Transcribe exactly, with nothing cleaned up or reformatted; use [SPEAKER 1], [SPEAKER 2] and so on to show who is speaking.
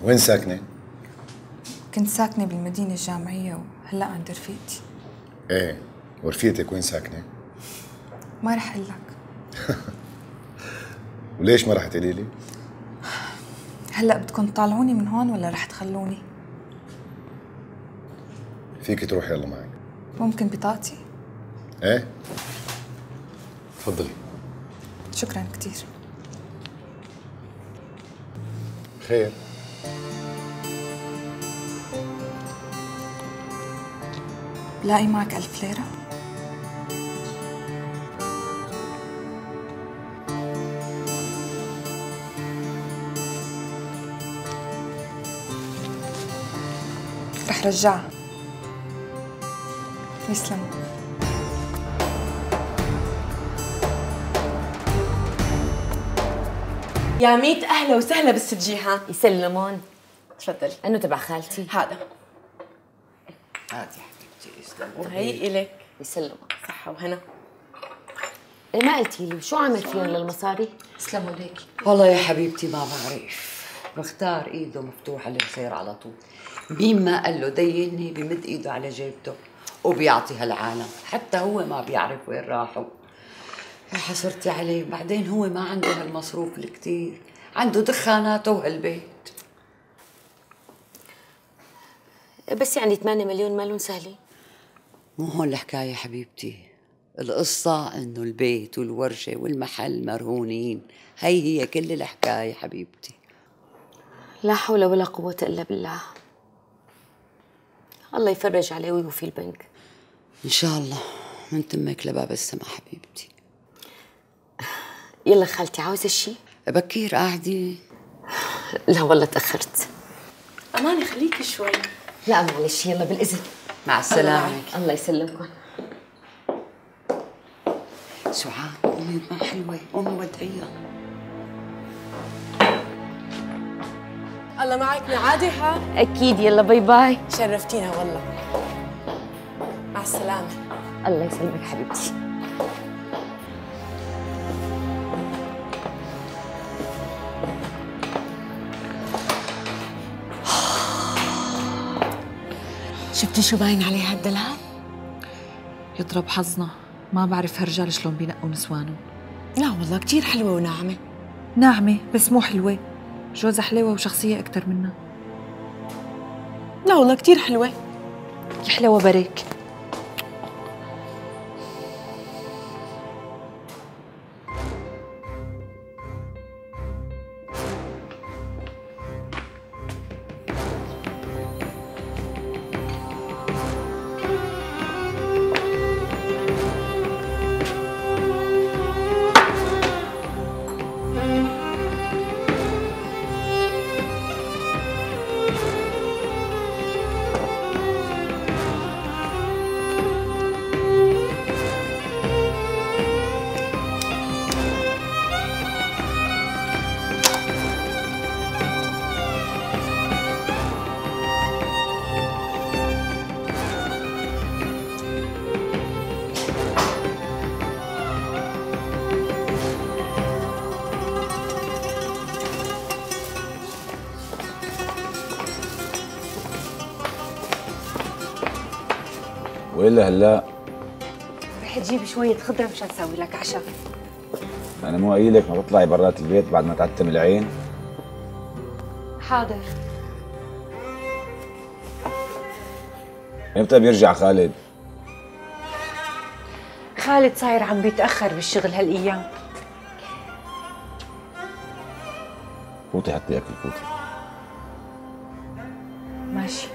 [SPEAKER 1] وين ساكنة؟
[SPEAKER 2] كنت ساكنة بالمدينة الجامعية وهلأ عند رفيقتي.
[SPEAKER 1] ايه، ورفيقتك وين ساكنة؟
[SPEAKER 2] ما رح أقول لك.
[SPEAKER 1] وليش ما رح تقولي لي؟
[SPEAKER 2] هلأ بدكم تطالعوني من هون ولا رح تخلوني؟
[SPEAKER 1] فيك تروح يلا معك.
[SPEAKER 2] ممكن بطاقتي؟
[SPEAKER 1] ايه تفضلي.
[SPEAKER 2] شكرا كتير.
[SPEAKER 1] خير.
[SPEAKER 2] بلاقي معك ألف ليرة؟ رح رجعها. يسلموا.
[SPEAKER 3] يا ميت أهلا وسهلا بالست جيهان.
[SPEAKER 4] يسلمون.
[SPEAKER 3] تفضلي.
[SPEAKER 4] انه تبع خالتي.
[SPEAKER 3] هذا.
[SPEAKER 5] هاتي حبيبتي يسلم.
[SPEAKER 3] وهي إلك.
[SPEAKER 4] يسلمون.
[SPEAKER 3] صحة وهنا.
[SPEAKER 4] إيه ما قلتي لي شو عمل فيهم للمصاري؟
[SPEAKER 2] يسلموا ليكي.
[SPEAKER 5] والله يا حبيبتي ما بعرف، بختار ايده مفتوحه للخير على طول. مين ما قال له ديني بمد ايده على جيبته وبيعطي هالعالم، حتى هو ما بيعرف وين راحوا. يا حسرتي عليه، بعدين هو ما عنده هالمصروف الكتير، عنده دخاناته وهالبيت.
[SPEAKER 4] بس يعني ثمانية مليون مالون سهلين.
[SPEAKER 5] مو هون الحكايه حبيبتي، القصه انه البيت والورشه والمحل مرهونين، هي هي كل الحكايه حبيبتي.
[SPEAKER 4] لا حول ولا قوة إلا بالله. الله يفرج عليه ويوفي البنك.
[SPEAKER 5] ان شاء الله، من تمك لباب السما حبيبتي.
[SPEAKER 4] يلا خالتي عاوزة شيء؟
[SPEAKER 5] بكير قاعدة؟
[SPEAKER 4] لا والله تأخرت.
[SPEAKER 3] أماني خليكي شوي.
[SPEAKER 4] لا معلش يلا بالإذن.
[SPEAKER 5] مع السلامة.
[SPEAKER 4] الله يسلمكم.
[SPEAKER 5] سعاد أمي ما حلوة، أمي ودعيها.
[SPEAKER 3] الله معك معادي ها؟
[SPEAKER 4] أكيد. يلا باي باي.
[SPEAKER 3] شرفتينا والله. مع السلامة.
[SPEAKER 4] الله يسلمك حبيبتي.
[SPEAKER 3] شفتي شو باين عليها الدلال؟
[SPEAKER 2] يضرب حظنا، ما بعرف هالرجال شلون بينقوا نسوانهم.
[SPEAKER 3] لا والله كتير حلوة وناعمة.
[SPEAKER 2] ناعمة بس مو حلوة، جوزها حلوة وشخصية أكتر منها.
[SPEAKER 3] لا والله كتير حلوة.
[SPEAKER 2] يا حلوة بريك.
[SPEAKER 6] وإلا هلا
[SPEAKER 4] رح تجيب شوية خضرة مشان اسوي لك عشاء.
[SPEAKER 6] أنا مو قايلك ما تطلعي برات البيت بعد ما تعتم العين؟
[SPEAKER 4] حاضر.
[SPEAKER 6] إمتى بيرجع خالد؟
[SPEAKER 7] خالد صاير عم بيتأخر بالشغل هالأيام.
[SPEAKER 6] فوتي حتى ياكل، فوتي.
[SPEAKER 7] ماشي.